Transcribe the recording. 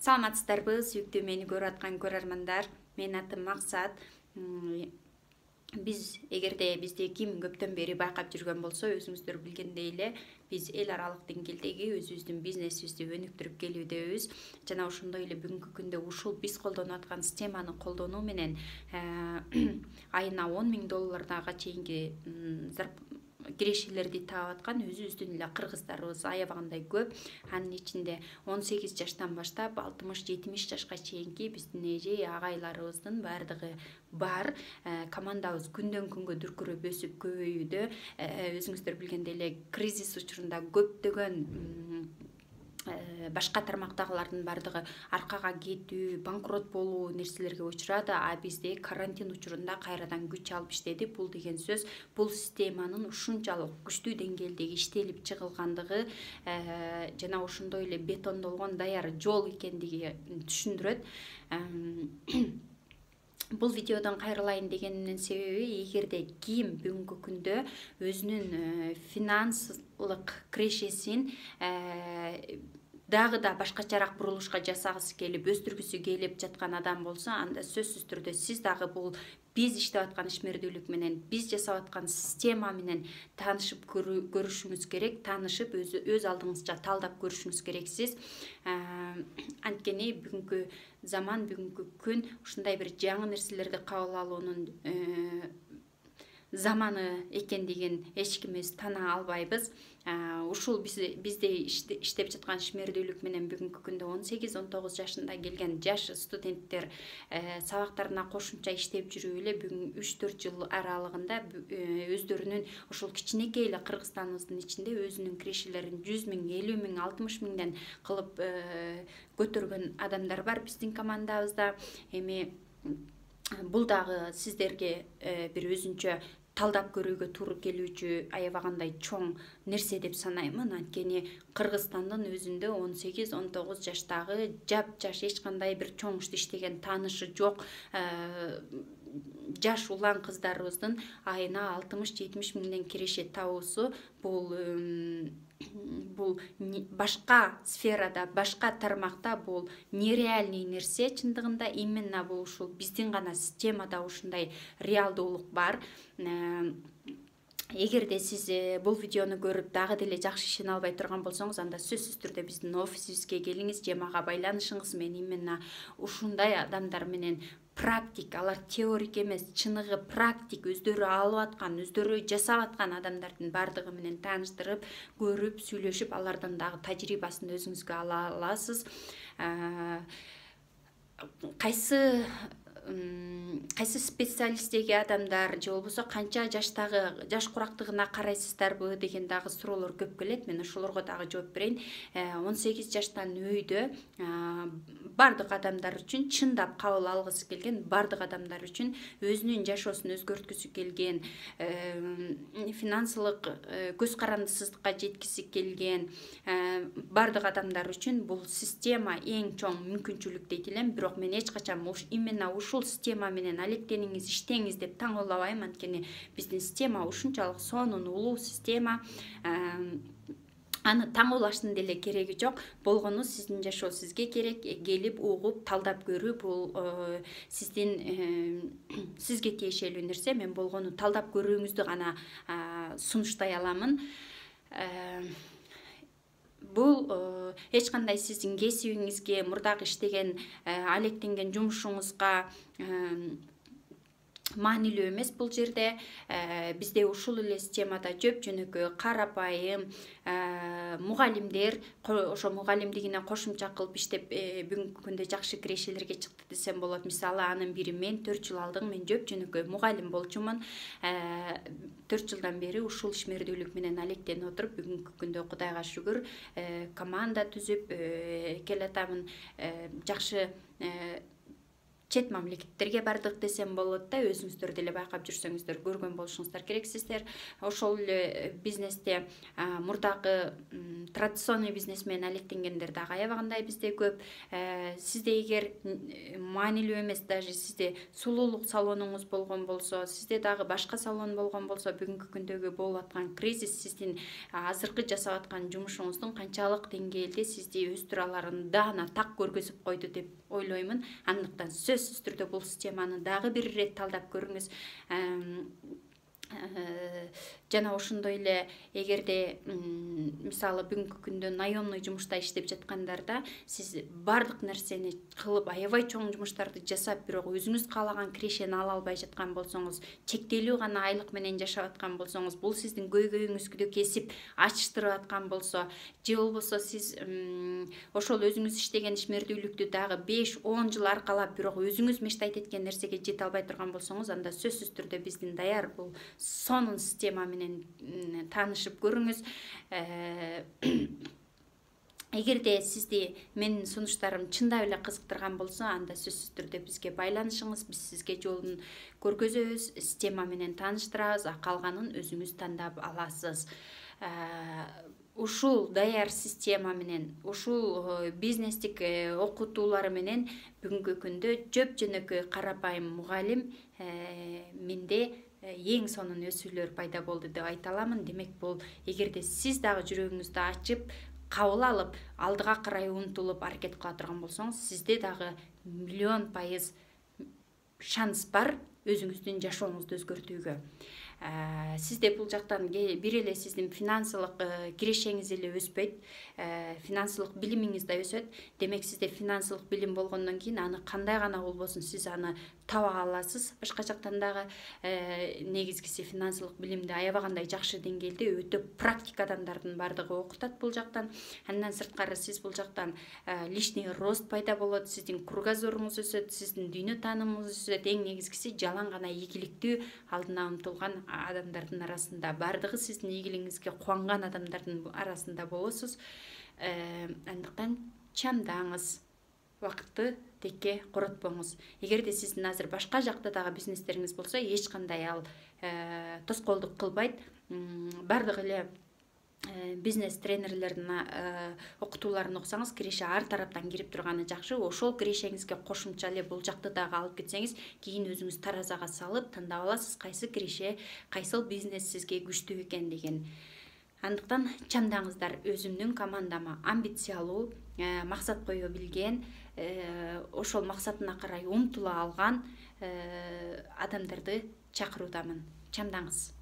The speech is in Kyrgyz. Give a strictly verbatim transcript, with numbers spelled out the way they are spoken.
Саламатсыздарбы, сүйүктүү мени көрүп аткан көрөрмандар. Менин атым Максат. Биз эгерде бизди ким көптөн бери байкап жүргөн болсо, өзүңүздөр билгендей эле биз эл аралык деңгээлдеги өзүбүздүн бизнесибизди өнүктүрүп келүүдөбүз. Жана ошондой эле бүгүнкү күндө ушул биз колдонуп аткан системаны колдонуу менен айына он миң долларга чейинки кирешелерди таап аткан өзүбүздүн эле кыргыздарыбыз аябагандай көп. Анын ичинде он сегиз жаштан баштап алтымыш жетимиш жашка чейинки биздин эже агайларыбыздын баардыгы бар. Командабыз күндөн күнгө дүркүрөп өсүп көбөйүүдө. Өзүңүздөр билгендей эле кризис учурунда көптөгөн башка тармактагылардын баардыгы аркага кетүү, банкрот болуу нерселерге учурады, а бизде карантин учурунда кайрадан күч алып иштедик. Бул деген сөз бул системанын ушунчалык күчтүү деңгээлдеги иштелип чыгылгандыгы жана ошондой эле бетондолгон даяр жол экендиги түшүндүрөт. Бул видеодон кайрылайын дегениmin себеби, эгерде ким бүгүнкү күндө өзүнүн финансылык кирешесин дагы да башкачараак бурулушка жасагысы келип, өстүргүсү келип жаткан адам болсо, анда сөзсүз түрдө сиз дагы бул биз иштеп аткан ишмердүүлүк менен, биз жасап аткан система менен таанышып көрүшүңүз керек, таанышып өз өз алдыңызча талдап көрүшүңүз керексиз. Анткени бүгүнкү заман, бүгүнкү күн ушундай бир жаңы нерселерди кабыл алуунун заманы экендигин эч кимибиз тана албайбыз. Ушул бизде иштеп жаткан ишмердүүлүк менен бүгүнкү күндө он сегиз он тогуз жашында келген жаш студенттер сабактарына кошумча иштеп жүрүп эле бүгүн үч төрт жыл аралыгында өздөрүнүн ушул кичинекей эле Кыргызстаныбыздын ичинде өзүнүн кирешелерин жүз миң, элүү миң, алтымыш миңден кылып көтөргөн адамдар бар биздин командабызда. Эми бул дагы сиздерге бир өзүнчө талдап көрүүгө туура келүүчү аябагандай чоң нерсе деп санаймын. Анткени Кыргызстандын өзүндө он сегиз он тогуз жаштагы жапжаш, эч кандай бир чоң ишти иштеген таанышы жок жаш улан кыздарыбыздын айына алтымыш жетимиш миңден киреше табуусу бул бул башка сферада, башка тармакта бул нереальный нерсе. Чындыгында именно бул ушул биздин гана системада ушундай реалдуулук бар. Эгерде сиз бул видеону көрүп дагы деле жакшы ишене албай турган болсоңуз, анда сөзсүз түрдө биздин офисибизге келиңиз, же мага байланышыңыз. Мен именно ушундай адамдар менен практик, алар теорик эмес, чыныгы практик, өздөрү алып аткан, өздөрү жасап аткан адамдардын баардыгы менен тааныштырып, көрүп, сүйлөшүп, алардан дагы тажрыйбасын өзүңүзгө ала аласыз. Кайсы кайсы специалисттеги адамдар же болбосо канча жаштагы жаш курактыгына карайсыздарбы деген дагы суроолор көп келет. Мен ошолорго дагы жооп берейин. он сегиз жаштан өйдө бардык адамдар үчүн, чындап кабыл алгысы келген бардык адамдар үчүн, өзүнүн жашоосун өзгөрткүсү келген, финансылык көз карандысыздыкка жеткиси келген бардык адамдар үчүн бул система эң чоң мүмкүнчүлүк дейт элем. Бирок мен эч качан именно ушул система менен алектениңиз, иштеңиз деп таңуулабайм. Анткени биздин система ушунчалык сонун улуу система. Аны таңуулаштын деле кереги жок. Болгону сиздин жашоо сизге керек. Келип, угуп, талдап көрүү бул сиздин сизге тиешелүү нерсе. Мен болгону талдап көрүүңүздү гана сунуштай аламын. Бул эч кандай сиздин кесибиңизге, мурдагы иштеген, алектенген жумушуңузга маанилүү эмес. Бул жерде бизде ушул эле системада жөп жөнөкөй, карапайым мугалимдер, ошо мугалимдигине кошумча кылып иштеп бүгүнкү күндө жакшы кирешелерге чыкты десем болот. Мисалы, анын бири мен төрт жыл алдың, мен жөп жөнөкөй мугалим болчумун. төрт жылдан бери ушул ишмердүүлүк менен алектенип отуруп, бүгүнкү күндө Кудайга шүгүр команда түзүп келатамын. Жакшы чет мамлекеттерге бардык десем болот да, өзүңүздөр деле байкап жүрсөңүздөр көргөн болушуңуздар керек сиздер. Ошол эле бизнесте мурдагы традиционный бизнес менен алектенгендер дагы аябагандай бизде көп. Сизде эгер маанилүү эмес, даже сизде сулуулук салонуңуз болгон болсо, сизде дагы башка салон болгон болсо, бүгүнкү күндөгү болуп аткан кризис сиздин азыркы жасап аткан жумушуңуздун канчалык деңгээлде сизди өстүрө аларын даана так көргөзүп койду деп ойлоймун. Андыктан сөзсүз түрдө бул системаны дагы бир ирет талдап көрүңүз. Жана ошондой эле эгерде мисалы бүгүнкү күндө наемный жумушта иштеп жаткандарда сиз бардык нерсени кылып аябай чоң жумуштарды жасап, бирок өзүңүз каалаган кирешени ала албай жаткан болсоңуз, чектелүү гана айлык менен жашап аткан болсоңуз, бул сиздин көйгөйүңүздү кесип ачтырып аткан болсо, же болбосо сиз ошол өзүңүз иштеген ишмердүүлүктү дагы беш он жыл аркалап, бирок өзүңүз мечтайт эткен нерсеге жете албай турган болсоңуз, анда сөзсүз түрдө биздин даяр бул сонун система менен таанышып көрүңүз. Эгерде сизди менин сунуштарым чындап эле кызыктырган болсо, анда сөзсүз түрдө бизге байланышыңыз, биз сизге жолун көргөзөбүз, система менен тааныштырабыз, а калганын өзүңүз тандап аласыз. Ушул даяр система менен, ушул бизнестик окутуулар менен бүгүнкү күндө жөп жөнөкөй карапайым мугалим менде эң сонун өсүүлөр пайда болду деп айта аламын. Демек бул эгерде сиз дагы жүрөгүңүздү ачып, кабыл алып, алдыга карай умтулуп аракет кыла турган болсоңуз, сизде дагы миллион пайыз шанс бар өзүңүздүн жашооңузду өзгөртүүгө. Сизде бул жактан бир эле сиздин финансылык кирешеңиз эле өспөйт, финансылык билимиңиз да өсөт. Демек сизде финансылык билим болгондон кийин аны кандай гана болбосун сиз аны таба аласыз. Башка жактан дагы негизгиси финансылык билимди аябагандай жакшы деңгээлде өтө практик адамдардын бардыгы окутат бул жактан. Андан сырткары сиз бул жактан личный рост пайда болот, сиздин кругозоруңуз өсөт, сиздин дүйнө таанымыңыз өсөт. Эң негизгиси жалаң гана ийгиликтүү алдына умтулган адамдардын арасында, бардыгы сиздин ийгилигиңизге кубанган адамдардын арасында болосуз. Андыктан чамдаңыз, убакытты текке коротпоңуз. Эгерде сиздин азыр башка жакта дагы бизнестериңиз болсо, эч кандай ал тоскоолдук кылбайт. Бардык эле бизнес тренерлердин окутууларын окусаңыз, киреше ар тараптан кирип турганы жакшы. Ошол кирешеңизге кошумча эле бул жакты дагы алып кетсеңиз, кийин өзүңүз таразага салып тандап аласыз, кайсы киреше, кайсыл бизнес сизге күчтүү экен деген. Андыктан чамдаңыздар, өзүмдүн командама амбициялуу, максат кое билген, ошол максатына карай умтула алган адамдарды чакыруудамын. Чамдаңыз.